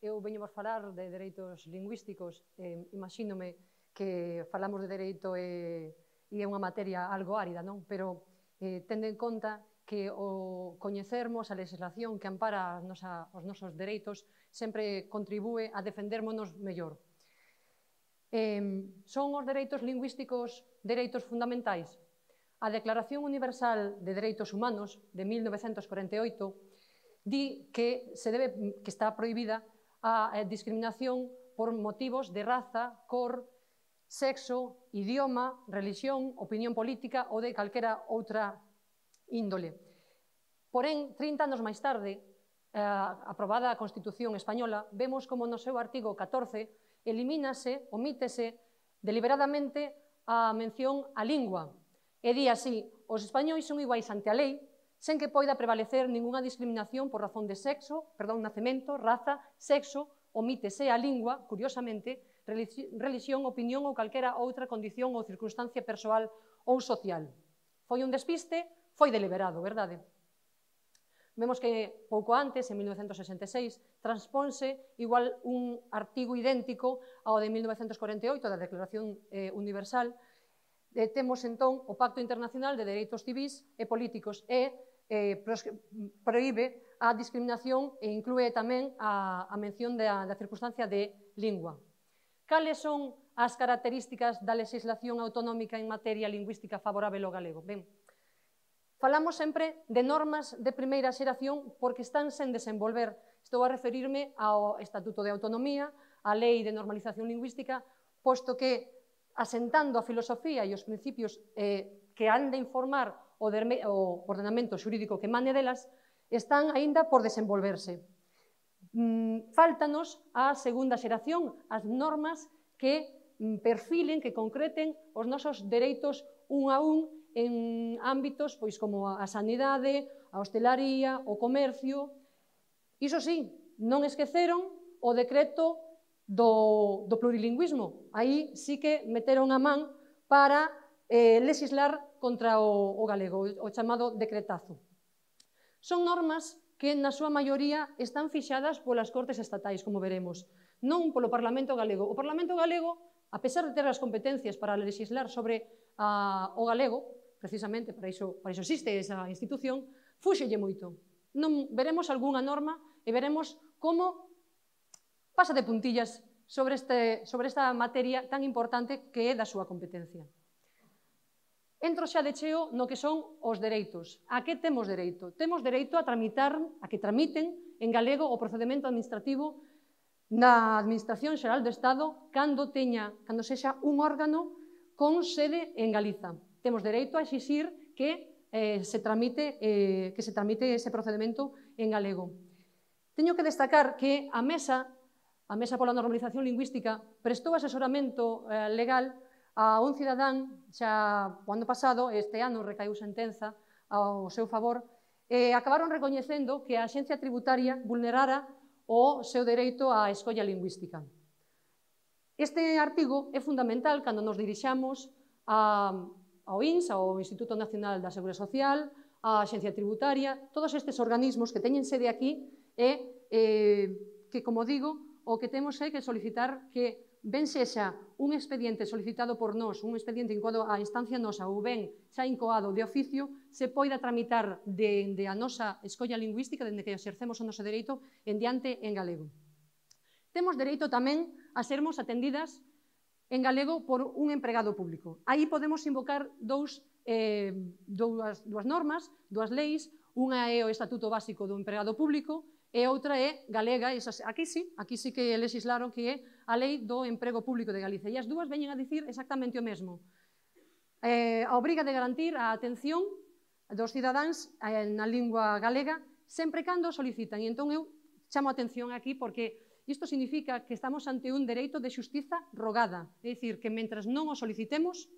eu veño vos falar de dereitos lingüísticos, imagínome que falamos de dereito e é unha materia algo árida, non? Pero tendo en conta que o coñecermos a legislación que ampara os nosos dereitos sempre contribúe a defendermonos mellor. Son os dereitos lingüísticos dereitos fundamentais? A Declaración Universal de Dereitos Humanos de 1948 di que está prohibida a discriminación por motivos de raza, cor, sexo, idioma, religión, opinión política ou de calquera outra índole. Porén, 30 anos máis tarde, aprobada a Constitución Española, vemos como no seu artigo 14 elimínase, omítese deliberadamente a mención á lingua. E di así: os españois son iguais ante a lei, sen que poida prevalecer ningunha discriminación por razón de nacemento, raza, sexo, omítese a lingua, curiosamente, religión, opinión ou calquera outra condición ou circunstancia persoal ou social. Foi un despiste, foi deliberado, verdade? Vemos que pouco antes, en 1966, transponse igual un artigo idéntico ao de 1948 da Declaración Universal. Temos entón o Pacto Internacional de Dereitos Civís e Políticos e proíbe a discriminación e inclúe tamén a mención da circunstancia de lingua. Cales son as características da legislación autonómica en materia lingüística favorável ao galego? Ben, falamos sempre de normas de primeira xeración porque están sen desenvolver. Estou a referirme ao Estatuto de Autonomía, á Lei de Normalización Lingüística, posto que, asentando a filosofía e os principios que han de informar o ordenamento xurídico que mane delas, están aínda por desenvolverse. Fáltanos a segunda xeración, as normas que perfilen, que concreten os nosos dereitos un a un en ámbitos como a sanidade, a hostelaría, o comercio. Iso sí, non esqueceron o decreto do plurilingüismo. Aí sí que meteron a man para legislar contra o galego, o chamado decretazo. Son normas que, na súa maioría, están fixadas polas Cortes Estatais, como veremos, non polo Parlamento Galego. O Parlamento Galego, a pesar de ter as competencias para legislar sobre o galego, precisamente para iso existe esa institución, fúxelle moito. Non veremos algunha norma e veremos como pasa de puntillas sobre esta materia tan importante que é da súa competencia. Entro xa de cheo no que son os dereitos. A que temos dereito? Temos dereito a que tramiten en galego o procedemento administrativo na Administración Xeral do Estado cando sexa un órgano con sede en Galiza. Temos dereito a exixir que se tramite ese procedemento en galego. Teño que destacar que a Mesa pola Normalización Lingüística prestou asesoramento legal a un cidadán xa o ano pasado, este ano recaiu sentenza ao seu favor, e acabaron recoñecendo que a Axencia Tributaria vulnerara o seu dereito á escolla lingüística. Este artigo é fundamental cando nos dirixamos ao INS, ao Instituto Nacional da Seguridade Social, á Axencia Tributaria, todos estes organismos que teñen sede aquí e que, como digo, o que temos é que solicitar que ben sexa un expediente solicitado por nós, un expediente incoado á instancia nosa ou ben xa incoado de oficio, se poida tramitar dende a nosa escolla lingüística, dende que exercemos o noso dereito, en diante en galego. Temos dereito tamén a sermos atendidas en galego por un empregado público. Aí podemos invocar dúas normas, dúas leis, unha é o Estatuto Básico do Empregado Público e outra é galega, aquí sí que legislaron que é a Lei do Emprego Público de Galicia. E as dúas veñen a dicir exactamente o mesmo. A obriga de garantir a atención dos cidadáns na lingua galega sempre cando solicitan. E entón eu chamo a atención aquí porque isto significa que estamos ante un dereito de xustiza rogada. É dicir, que mentras non o solicitemos,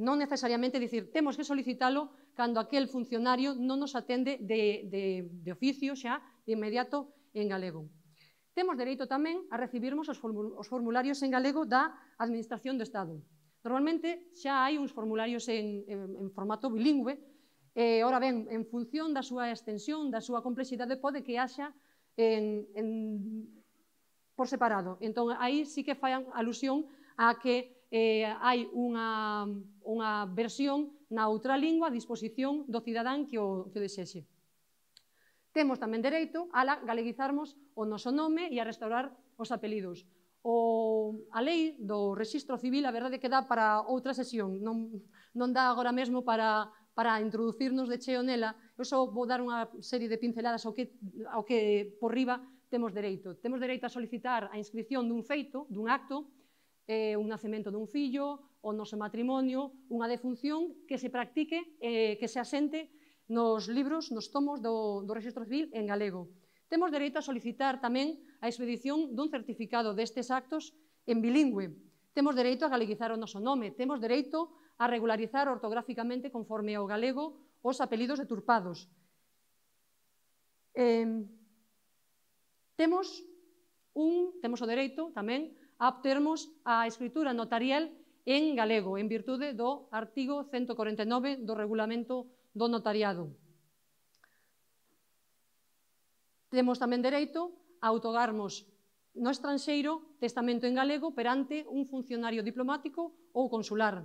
non necesariamente dicir temos que solicitalo cando aquel funcionario non nos atende de oficio xa, de inmediato en galego. Temos dereito tamén a recibirmos os formularios en galego da Administración do Estado. Normalmente xa hai uns formularios en formato bilingüe, e, ora ben, en función da súa extensión, da súa complexidade, pode que haxa en por separado. Entón, aí sí que fai alusión a que hai unha versión na outra lingua a disposición do cidadán que o desexe. Temos tamén dereito a galeguizarmos o noso nome e a restaurar os apelidos. A lei do Rexistro Civil, a verdade que dá para outra sesión, non dá agora mesmo para introducirnos de cheo nela. Eu só vou dar unha serie de pinceladas ao que por riba temos dereito. Temos dereito a solicitar a inscripción dun feito, dun acto, un nacemento dun fillo, o noso matrimonio, unha defunción que se practique, que se asente nos libros, nos tomos do Rexistro Civil en galego. Temos dereito a solicitar tamén a expedición dun certificado destes actos en bilingüe. Temos dereito a galeguizar o noso nome. Temos dereito a regularizar ortográficamente conforme ao galego os apelidos deturpados. Temos o dereito tamén a obtermos a escritura notarial en galego, en virtude do artigo 149 do Regulamento do Notariado. Temos tamén dereito a outorgarmos no estranxeiro testamento en galego perante un funcionario diplomático ou consular.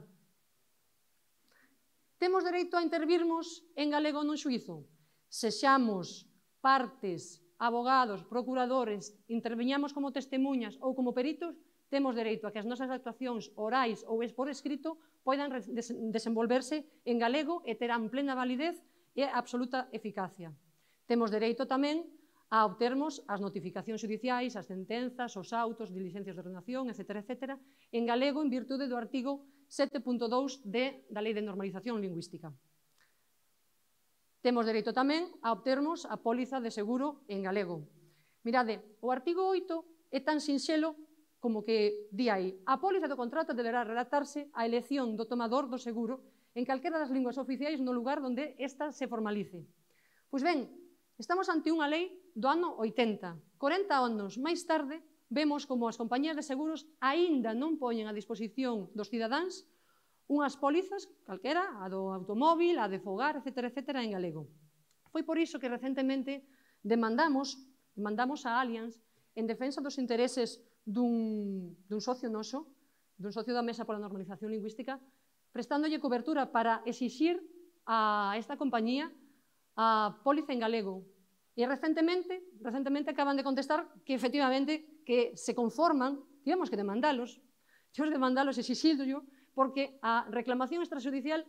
Temos dereito a intervirmos en galego nun xuízo. Sexamos partes, abogados, procuradores, interviñamos como testemunhas ou como peritos, temos dereito a que as nosas actuacións orais ou por escrito poidan desenvolverse en galego e terán plena validez e absoluta eficacia. Temos dereito tamén a obtermos as notificacións xudiciais, as sentenzas, os autos, diligencias de ordenación, etc., en galego en virtude do artigo 7.2 da Lei de Normalización Lingüística. Temos dereito tamén a obtermos a póliza de seguro en galego. Mirade, o artigo 8 é tan sinxelo como que di aí: a póliza do contrato deberá relatarse a elección do tomador do seguro en calquera das linguas oficiais no lugar onde esta se formalice. Pois ben, estamos ante unha lei do ano 80. 40 anos máis tarde, vemos como as compañías de seguros aínda non poñen a disposición dos cidadáns unhas pólizas, calquera, a do automóvil, a de fogar, etc., en galego. Foi por iso que recentemente demandamos a Allianz en defensa dos intereses dun socio noso, dun socio da Mesa pola Normalización Lingüística, prestándolle cobertura para exixir a esta compañía a póliza en galego. E recentemente acaban de contestar que efectivamente que se conforman, tivemos que demandalos, exixíllo, porque a reclamación extrajudicial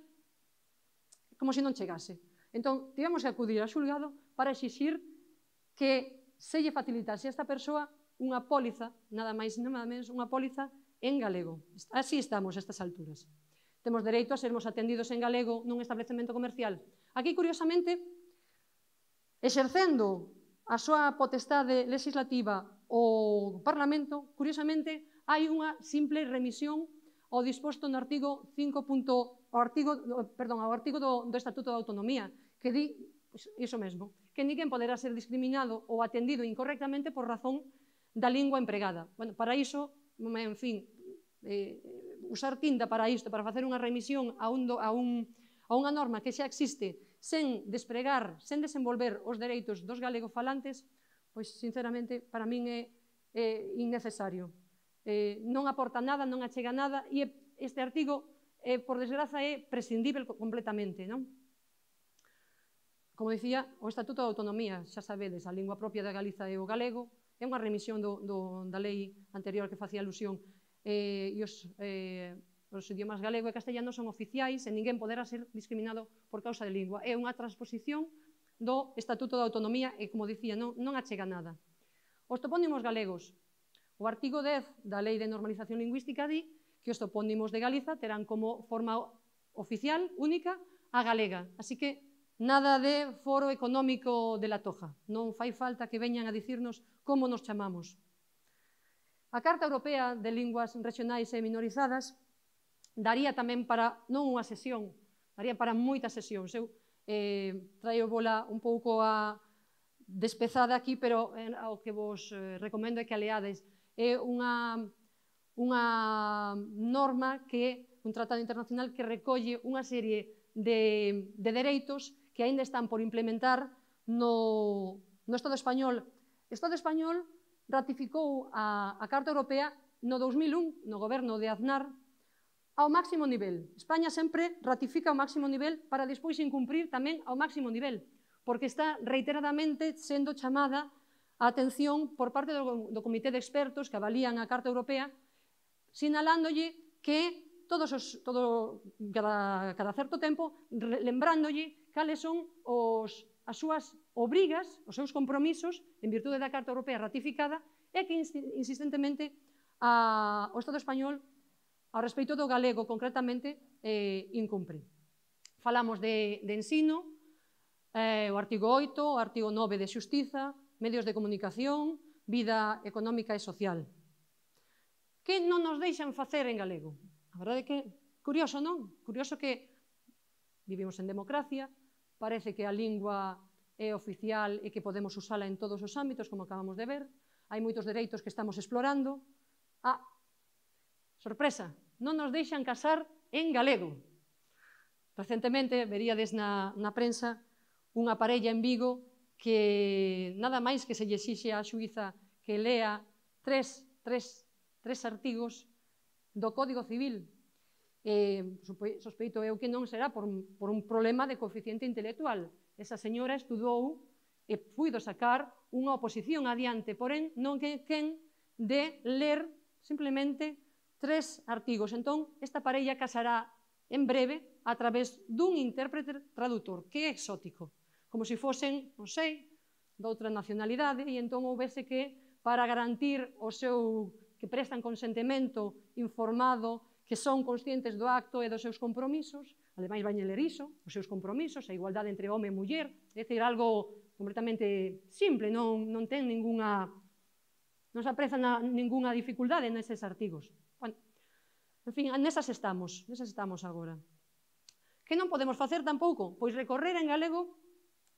como se non chegase. Entón, tivemos que acudir ao xulgado para exixir que se lle facilitase a esta persoa unha póliza, nada máis nada menos, unha póliza en galego. Así estamos a estas alturas. Temos dereito a sermos atendidos en galego nun establecemento comercial. Aquí, curiosamente, exercendo a súa potestade legislativa o Parlamento, curiosamente, hai unha simple remisión ao disposto no artigo 5. Ao artigo do Estatuto da Autonomía, que di iso mesmo, que ninguén poderá ser discriminado ou atendido incorrectamente por razón da lingua empregada. Bueno, para iso, en fin, usar tinta para isto, para facer unha remisión a unha norma que xa existe sen despregar, sen desenvolver os dereitos dos galegofalantes, pois, sinceramente, para min é innecesario. Non aporta nada, non achega nada, e este artigo, por desgraza, é prescindível completamente, non? Como dicía, o Estatuto da Autonomía, xa sabedes, a lingua propia da Galiza é o galego, é unha remisión da lei anterior que facía alusión, e os idiomas galego e castellano son oficiais e ninguén poderá ser discriminado por causa de lingua. É unha transposición do Estatuto da Autonomía e, como dicía, non achega nada. Os topónimos galegos. O artigo 10 da Lei de Normalización Lingüística di que os topónimos de Galiza terán como forma oficial, única, a galega. Así que nada de foro económico de la Toja. Non fai falta que veñan a dicirnos como nos chamamos. A Carta Europea de Linguas Regionais e Minorizadas daría tamén para, non unha sesión, daría para moitas sesións. Eu traio bola un pouco a despezada aquí, pero o que vos recomendo é que a leades. É unha norma un tratado internacional que recolle unha serie de dereitos que aínda están por implementar no Estado español. Estado español ratificou a Carta Europea no 2001, no goberno de Aznar, ao máximo nivel. España sempre ratifica ao máximo nivel para despois incumprir tamén ao máximo nivel, porque está reiteradamente sendo chamada a atención por parte do Comité de Expertos que avalían a Carta Europea, sinalándolle que cada certo tempo, lembrándolle cales son as súas obrigas, os seus compromisos, en virtude da Carta Europea ratificada, e que insistentemente o Estado español, ao respecto do galego concretamente, incumpre. Falamos de ensino, o artigo 8, o artigo 9 de Xustiza, medios de comunicación, vida económica e social. Que non nos deixan facer en galego? A verdade é que, curioso, non? Curioso que vivimos en democracia, parece que a lingua é oficial e que podemos usala en todos os ámbitos, como acabamos de ver, hai moitos dereitos que estamos explorando. Sorpresa, non nos deixan casar en galego. Recentemente, veríades na prensa unha parella en Vigo que nada máis que se lle exixe á xuíza que lea tres artigos do Código Civil. Sospeito eu que non será por un problema de coeficiente intelectual. Esa señora estudou e puido sacar unha oposición adiante, porén non quen de ler simplemente 3 artigos. Entón, esta parella casará en breve a través dun intérprete traductor, que é exótico, como se fosen, non sei, doutra nacionalidade, e entón houvese que, para garantir o seu, que prestan consentimento informado, que son conscientes do acto e dos seus compromisos, ademais vai ler iso, os seus compromisos, a igualdade entre home e muller, é dicir, algo completamente simple, non ten ninguna, non se apreza ninguna dificultade neses artigos. En fin, nesas estamos agora. Que non podemos facer tampouco? Pois recorrer en galego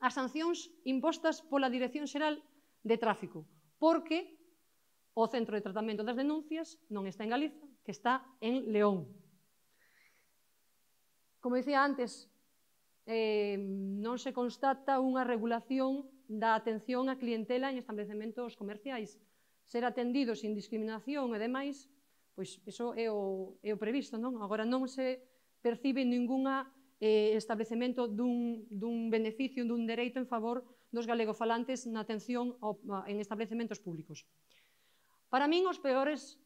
as sancións impostas pola Dirección Xeral de Tráfico, porque o Centro de Tratamento das Denuncias non está en Galiza, que está en León. Como dicía antes, non se constata unha regulación da atención á clientela en establecementos comerciais. Ser atendido sin discriminación e demais, pois iso é o previsto, non? Agora non se percibe ningún establecemento dun beneficio, dun dereito en favor dos galegofalantes na atención en establecementos públicos. Para min os peores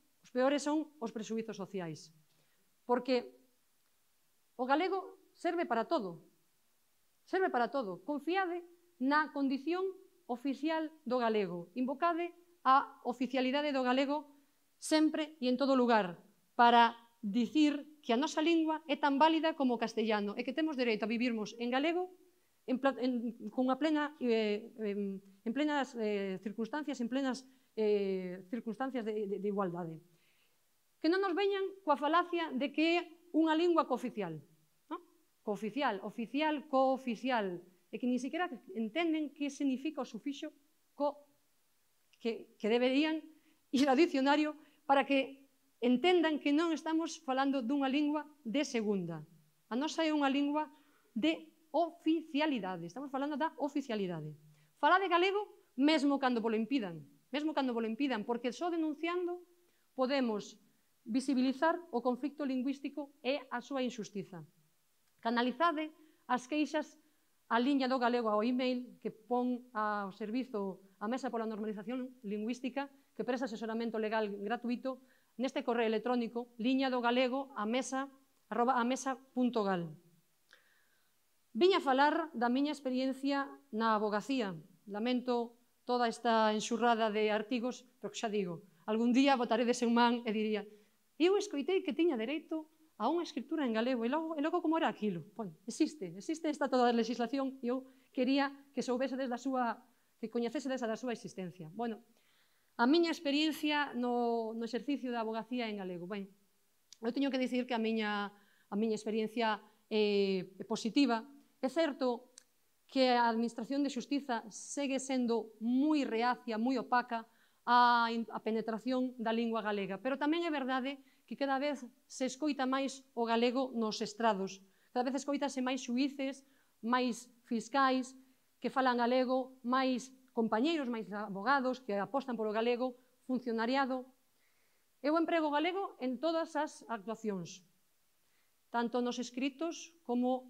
son os prexuízos sociais, porque o galego serve para todo. Confiade na condición oficial do galego, invocade a oficialidade do galego sempre e en todo lugar, para dicir que a nosa lingua é tan válida como o castellano e que temos dereito a vivirmos en galego en plenas circunstancias de igualdade. Que non nos veñan coa falacia de que é unha lingua cooficial. Cooficial, oficial, cooficial, e que ni siquiera entenden que significa o sufixo co, que deberían ir ao dicionario para que entendan que non estamos falando dunha lingua de segunda. A nosa é unha lingua de oficialidade, estamos falando da oficialidade. Fala de galego mesmo cando volo impidan, porque só denunciando podemos visibilizar o conflicto lingüístico e a súa injustiza. Canalizade as queixas á liña do galego ao email que pon ao servizo a Mesa pola Normalización Lingüística, que presta asesoramento legal gratuito neste correo electrónico liñadogalego@amesa.gal. Viña a falar da miña experiencia na avogacía. Lamento toda esta enxurrada de artigos, pero que xa digo, algún día botaredes en man e diría eu escoitei que tiña dereito a unha escritura en galego, e logo como era aquilo? Existe esta toda a legislación, e eu quería que soubesedes da súa, que coñecesedes da súa existencia. Bueno, a miña experiencia no exercicio da avogacía en galego. Ben, eu teño que dicir que a miña experiencia é positiva. É certo que a Administración de Xustiza segue sendo moi reacia, moi opaca a penetración da lingua galega, pero tamén é verdade que cada vez se escoita máis o galego nos estrados. Cada vez escoitase máis xuíces, máis fiscais que falan galego, máis compañeiros máis abogados que apostan polo galego, funcionariado. Eu emprego o galego en todas as actuacións, tanto nos escritos como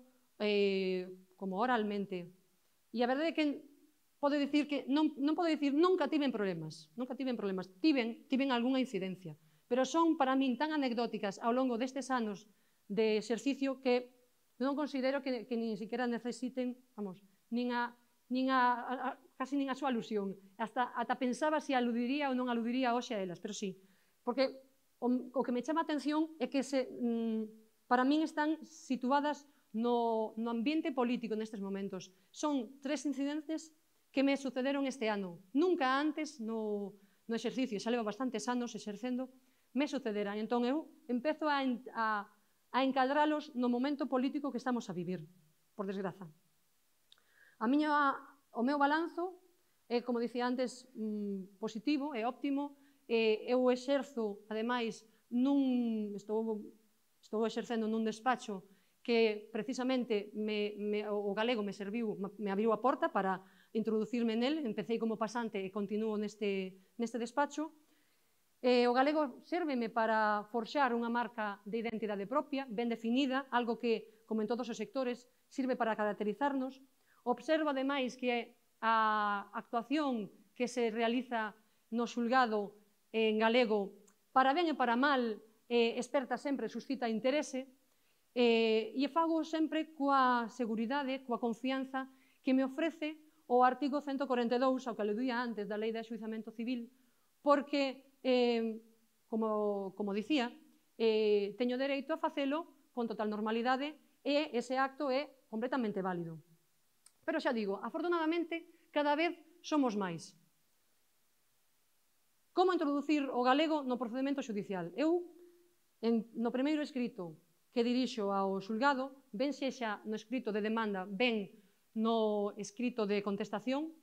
oralmente. E a verdade é que podo dicir que non podo dicir nunca tiven problemas, tiven algunha incidencia, pero son para min tan anecdóticas ao longo destes anos de exercicio que non considero que nin siquiera necesiten, casi nin a súa alusión. Ata pensaba se aludiría ou non aludiría hoxe a elas, pero sí, porque o que me chama a atención é que para min están situadas no ambiente político nestes momentos. Son 3 incidentes que me sucederon este ano. Nunca antes no exercicio, xa levo bastantes anos exercendo, me sucederan. Entón eu empezo a encadralos no momento político que estamos a vivir, por desgraza. O meu balanzo é, como dicía antes, positivo, é óptimo. Eu exerzo, ademais, estou exercendo nun despacho que precisamente o galego me abriu a porta para introducirme nel. Empecé como pasante e continuo neste despacho. O galego sérveme para forxar unha marca de identidade propia, ben definida, algo que, como en todos os sectores, sirve para caracterizarnos. Observo, ademais, que a actuación que se realiza no xulgado en galego, para ben e para mal, esperta sempre, suscita interese, e fago sempre coa seguridade, coa confianza que me ofrece o artigo 142, ao que aludía antes, da Lei de Enxuizamento Civil, porque, como dicía, teño dereito a facelo con total normalidade e ese acto é completamente válido. Pero xa digo, afortunadamente, cada vez somos máis. Como introducir o galego no procedemento xudicial? Eu, no primeiro escrito que dirixo ao xulgado, ben sexa no escrito de demanda, ben no escrito de contestación,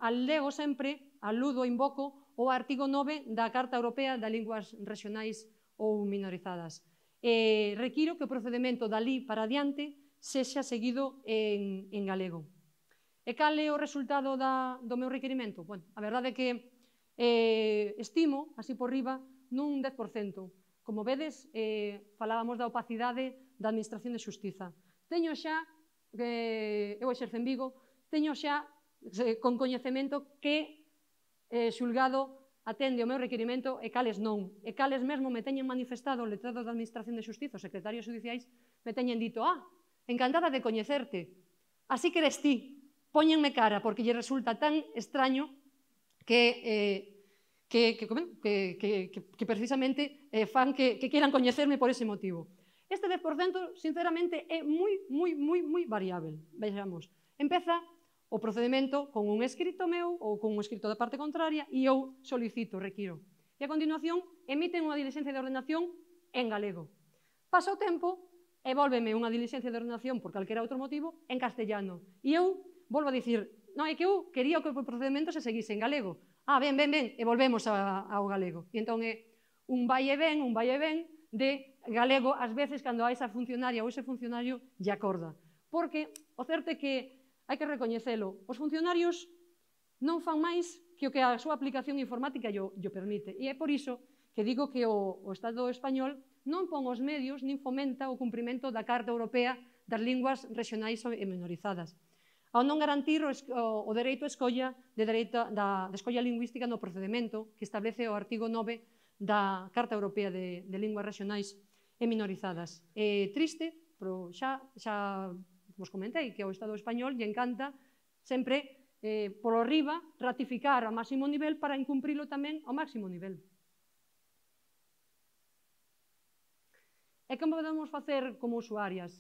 alego sempre, aludo, invoco o artigo 9 da Carta Europea das Linguas Rexionais ou Minorizadas. Requiro que o procedemento dali para adiante sexa seguido en galego. E cal é o resultado do meu requerimento? A verdade é que estimo, así por riba, nun 10%. Como vedes, falábamos da opacidade da Administración de Xustiza. Teño xa, eu exerzo en Vigo, teño xa con coñecemento que xulgado atende o meu requerimento e cales non. E cales mesmo me teñen manifestado o letrado da Administración de Xustiza, os secretarios judiciais, me teñen dito, encantada de coñecerte, así que eres ti, póñenme cara, porque lle resulta tan extraño que precisamente fan que quieran coñecerme por ese motivo. Este 10%, sinceramente, é moi variável. Vexamos, empeza o procedimento con un escrito meu ou con un escrito da parte contraria e eu solicito, requiro. E a continuación emiten unha diligencia de ordenación en galego. Pasa o tempo e volveme unha diligencia de ordenación por calquera outro motivo en castellano. E eu volvo a dicir, non, é que eu quería que o procedimento se seguise en galego. Ben, e volvemos ao galego. E entón é un vai e ven de galego, ás veces, cando a esa funcionaria ou ese funcionario lle acorda. Porque o certo é que hai que recoñecelo, os funcionarios non fan máis que o que a súa aplicación informática llo permite. E é por iso que digo que o Estado español non pon os medios nin fomenta o cumprimento da Carta Europea das Linguas Rexionais e Minorizadas, ao non garantir o dereito a escolla da escolla lingüística no procedimento que establece o artigo 9 da Carta Europea de Linguas Rexionais e Minorizadas. É triste, pero xa vos comentei que ao Estado español lle encanta sempre polo riba ratificar ao máximo nivel para incumprilo tamén ao máximo nivel. E como podemos facer como usuarias?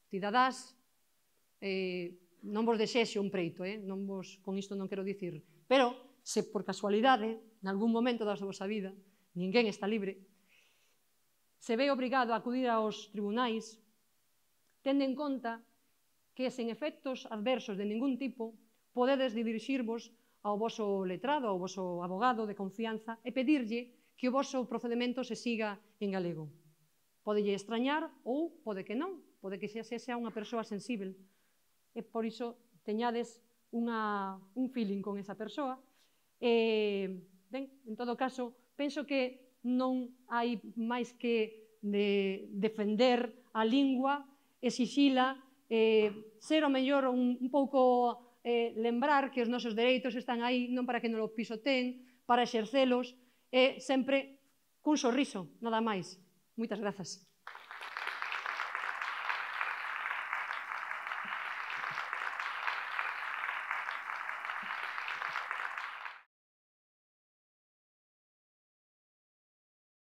Cidadás, non vos desexo un preito, con isto non quero dicir, pero se por casualidade, en algún momento da vosa vida, ninguén está libre, se ve obrigado a acudir aos tribunais, tende en conta que sen efectos adversos de ningún tipo podedes dirixirvos ao voso letrado, ao voso abogado de confianza e pedirlle que o voso procedimento se siga en galego. Podelle extrañar ou pode que non, pode que xa sexa unha persoa sensível. E por iso teñades un feeling con esa persoa. Ben, en todo caso, penso que non hai máis que defender a lingua, exixila, ser o mellor un pouco lembrar que os nosos dereitos están aí non para que non o pisoteen, para exercelos, e sempre cun sorriso, nada máis. Moitas grazas.